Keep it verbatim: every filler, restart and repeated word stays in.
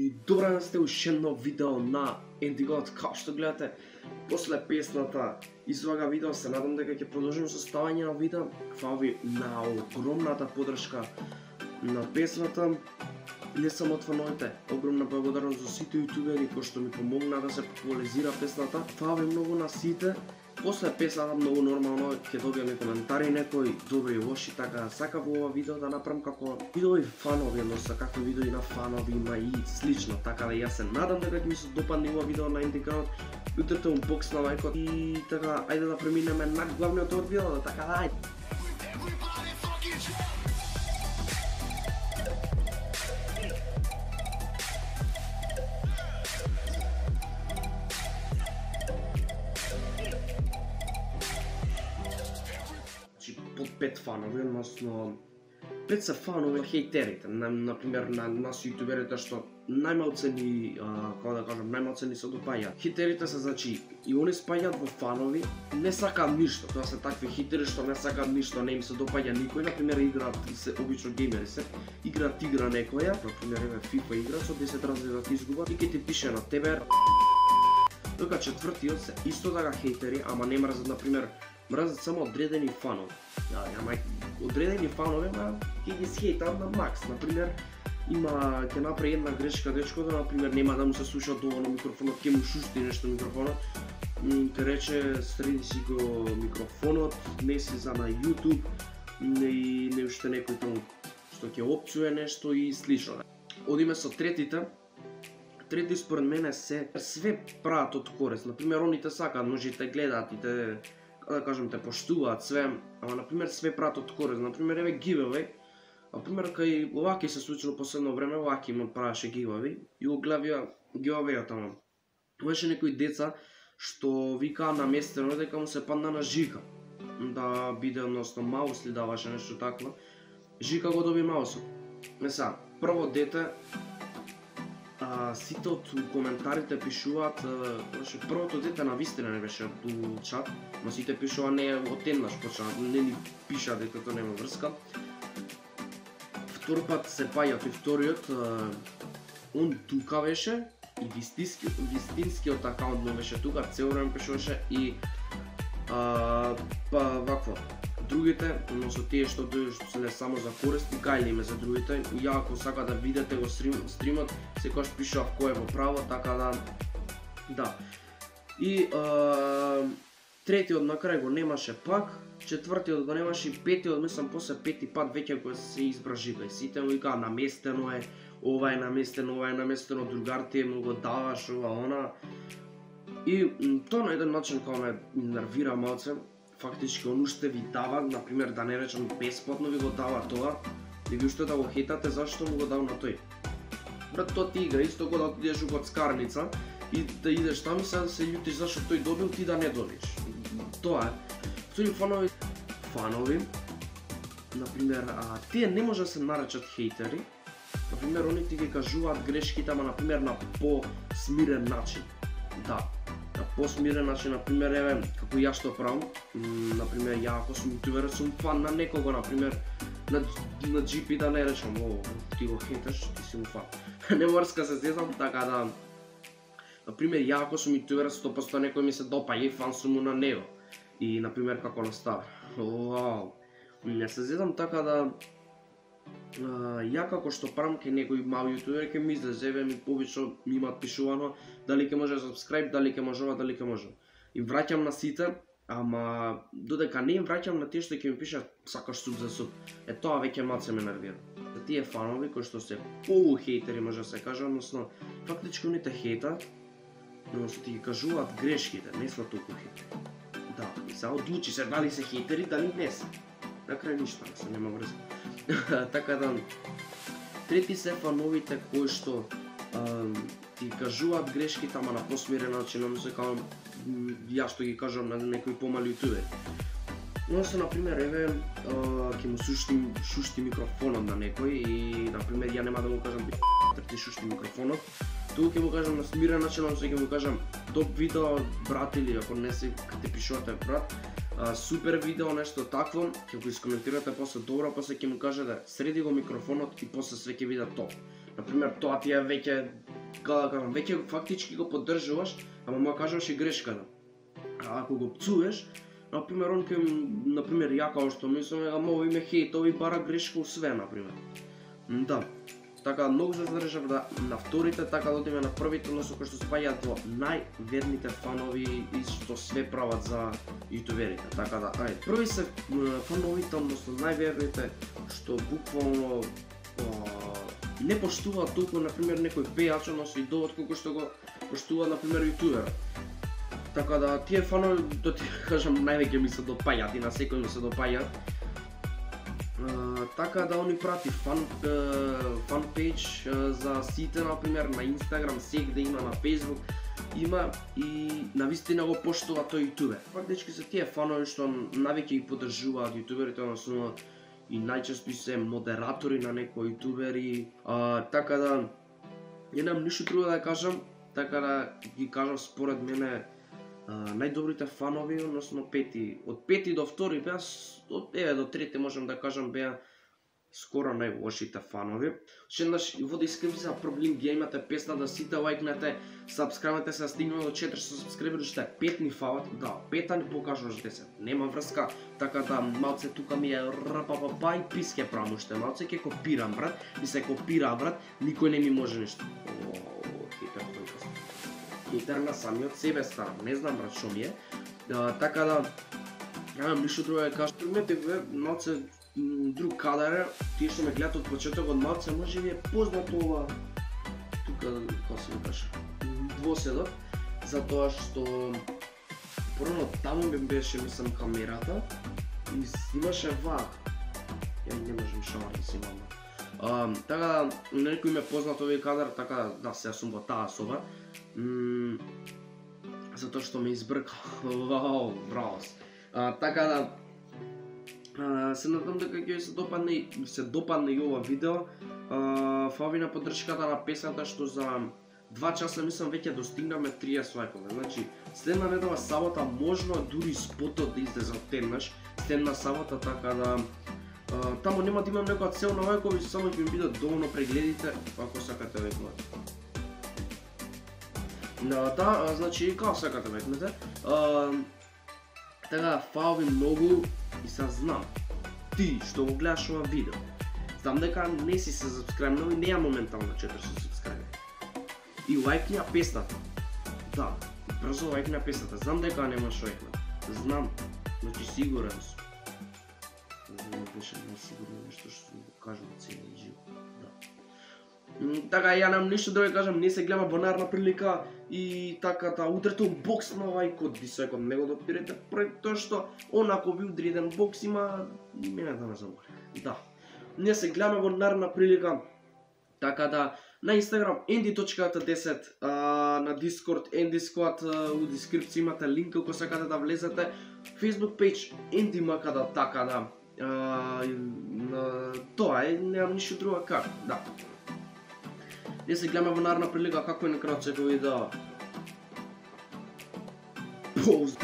И добра да сте уште едно видео на Ендигот. Као што гледате, после песната извага видео, се надам дека ќе продолжим со ставање на видео. Фала ви на огромната поддршка на песната. Не само фановите, огромна благодарност за сите јутубери кои што ми помогна да се популаризира песната. Фала ви многу на сите. После песната многу нормално ќе добиеме коментари некои добри и лоши, така сакав ова видео да направам како видеови фанови, односно како видеои на фанови има и слично, така да јас се надам дека ќе ми се допадне ова видео на Ендигот. Утрете унбокс на лајкот и така ајде да преминеме на главниот од видео, така да ајде. Под пет фанови, односно пет се фанови хејтерите, на, например на нас јутуберите што најмалце ни, како да кажам, најмалце ни се допаѓаат. Хејтерите се, значи, и они спаѓаат во фанови, не сакаат ништо, тоа се такви хејтери што не сакаат ништо, не им се допаѓа никој, например играат, се обично геймери се, играат игра некоја, например еве FIFA игра со десет разлика изгуба и ќе ти пише на тебе. Дока четвртиот се исто така хејтери, ама не мрзат, например, мрзат само одредени фанови. Ja, ама одредени фанови, ама ќе ги схејтаат на макс. Например, има ќе направи една грешка дечкото, например, нема да му се слуша доволно микрофонот, ќе му шушти нешто микрофонот. Ќе рече, среди си го микрофонот, не си за на YouTube, и не уште некој таму што ќе опцуе нешто и слично. Одиме со третите. Трети според мене се све прават од корист. Например, оните сакаат, можете гледаат и те, да кажем, те поштуваат све, ама например све прават од корист. Например, еве giveaway. Например, кај Лаки се случило последно време, Лаки му правеше giveaway и го гледавија giveaway-от таму. Имаше некои деца што викаа наместено дека му се падна на Жика да биде, односно маус ли даваше нешто такво. Жика го доби маусот. Не са, прво дете, а, сите од коментарите пишуваат, значи првото дете навистина не беше у чат, но сите пишува не од еднаш почна, не ни пиша дека тоа нема врска. Втор пат се паѓа и вториот, он тука беше и вистински, вистинскиот акаунт не беше тука, цел време пишуваше и а, па вакво. Другите, односно тие што дојдат се не само за корист, и гајле име за другите. Ја ако сака да видите го стрим, стримот, секогаш пишував кој е во право, така да да. И а, третиот на крај го немаше пак, четвртиот го немаше и петиот, мислам после пети пат веќе кој се избра Жика. И сите му викаа наместено е, ова е наместено, ова е наместено, другар ти му го даваш, ова она. И тоа на еден начин кога ме нервира малце. Фактички он уште ви дава, например, да не речам бесплатно ви го дава тоа, и ви уште да го хейтате зашто му го дав на тој. Брат, тоа ти игра, исто кога да отидеш у коцкарница и да идеш таму и сега да се љутиш зашто тој добил, ти да не добиш. Тоа е. Втори фанови, фанови, например, а, тие не може да се наречат хейтери. Например, они ти ги кажуваат грешките, ама например на по-смирен начин. Да. На посмирен начин, например, еве, како ја што правам, например, ја ако сум јутубер, сум фан на некого, например, на, на джи пи да не речам, о, ти го хейташ, ти си му фан. Не морска се зезам, така да, например, ја ако сум јутубер, сто проценти некој ми се допаѓа и фан сум му на него. И, например, како настава. Вау, не се зезам, така да, Uh, ја како што правам кај некој мал јутубер ќе ми излезе, еве ми повично ми имаат пишувано дали ќе може subscribe, дали ќе можува, дали ќе може. И враќам на сите, ама додека не им враќам на тие што ќе ми пишат сакаш суп за суп. Е тоа веќе малце ме нервира. За тие фанови кои што се полухейтери, може да се каже, односно фактички оните хейтат, но што ти ги кажуваат грешките, не се толку хейтери. Да, и сега одлучи се дали се хейтери, дали не се. На крај ништо, се нема врска. Така да, трети се фановите кои што а, ти кажуваат грешките, ама на посмирен начин, но се као ја што ги кажам на некои помали јутубери. Но се, например, еве, ќе му шушти, шушти микрофонот на некој и, например, ја нема да му кажам ти шушти микрофонот, туку ќе му кажам на смирен начин, но се ќе му кажам топ видео, брат, или ако не се те пишувате брат, а, супер видео, нешто такво, ќе го искоментирате после добро, после ќе му кажете среди го микрофонот и после све ќе биде топ. Например, тоа ти е веќе кога кажам, веќе фактички го поддржуваш, ама му кажуваш и грешката. А ако го пцуеш, например, он ке, например, ја као што мислам, ама овој ме хейтови бара грешка у све, например. Да. Така многу се задржав да на вторите, така да одиме на првите, односно кои што спаѓаат во најверните фанови и што све прават за јутуберите. Така да, ајде, први се фановите, односно најверните, што буквално не поштуваат толку, например, некој пејач, односно идолот, колку што го поштува, например, јутуберот. Така да, тие фанови, да ти кажам, највеќе ми се допаѓаат и на секој ми се допаѓаат. Uh, така да они прати фан uh, фан пејдж uh, за сите, например, на Инстаграм, сегде има, на Фејсбук има и навистина го поштува тој јутубер. Фактички се тие фанови што навеќе ги поддржуваат јутуберите, односно и најчесто се модератори на некои јутубери. Uh, така да, немам ништо друго да кажам, така да ги кажам според мене Uh, најдобрите фанови, односно пети, од пети до втори беа, од еве до трети можам да кажам беа скоро најлошите фанови. Шеднаш во дескрипција проблем ги имате песна да сите лајкнете, сабскрајбнете се, стигнеме до четиристотини сабскрајбери, што е пет ни фалат, да, пета ни покажуваш десет, нема врска, така да малце тука ми е рпппа и писке правам уште малце, ќе копирам брат, и се копира брат, никој не ми може ништо. Хейтер на самиот себе станам, не знам брат што ми е. А, така да, немам ништо друго да кажам. Приметиве малце друг кадар, тие што ме гледат од почетокот малце, може би е познато ова, тука, како се викаше, двоседот, затоа што порано таму ми беше, мислам, камерата и снимаше вака. Ја не можам шамар да снимам. Uh, така, некој ме познат овој кадар, така да се сум во таа соба. Mm, затоа што ме избркал. Вау, браво. Uh, така да, uh, се надам дека ќе се допадне, се допадне и ова видео. Uh, Фави на поддршката на песната што за два часа мислам веќе достигнаме триесет лајкови. Значи, следна недела сабота можно дури спотот да излезе теннаш, следна сабота, така да Uh, таму нема да имам некоја цел на лајкови, само ќе ми бидат доволно прегледите, ако сакате векнете. Да, да, значи, како сакате векнете. Uh, така, фала ви многу и са знам, ти што го гледаш ова видео, знам дека не си се сабскрајбнал и неја моментално четиристотини сабскрајбери. И лајкни ја песната. Да, брзо лајкни ја песната, знам дека немаш лајкна. Знам, значи сигурен сум. Беше несигурно нешто што го кажам целиот живот. Да. Така, ја немам ништо друго да кажам, не се гледам во наредна прилика и така да удрете бокс на лајкот, дисекот, не го допирате, пред тоа што он ако ви удри еден бокс има мене да ме замори. Да. Не се гледаме во наредна прилика. Така да, на Инстаграм енди точка десет, на Дискорд EndySquad, у дескрипција имате линк ако сакате да влезете. Facebook page Енди Макада, така да. Uh, тоа е, немам ништо друго како, да. Не се гледаме во наредна прилика, како е на крајот секој видео. Поуз!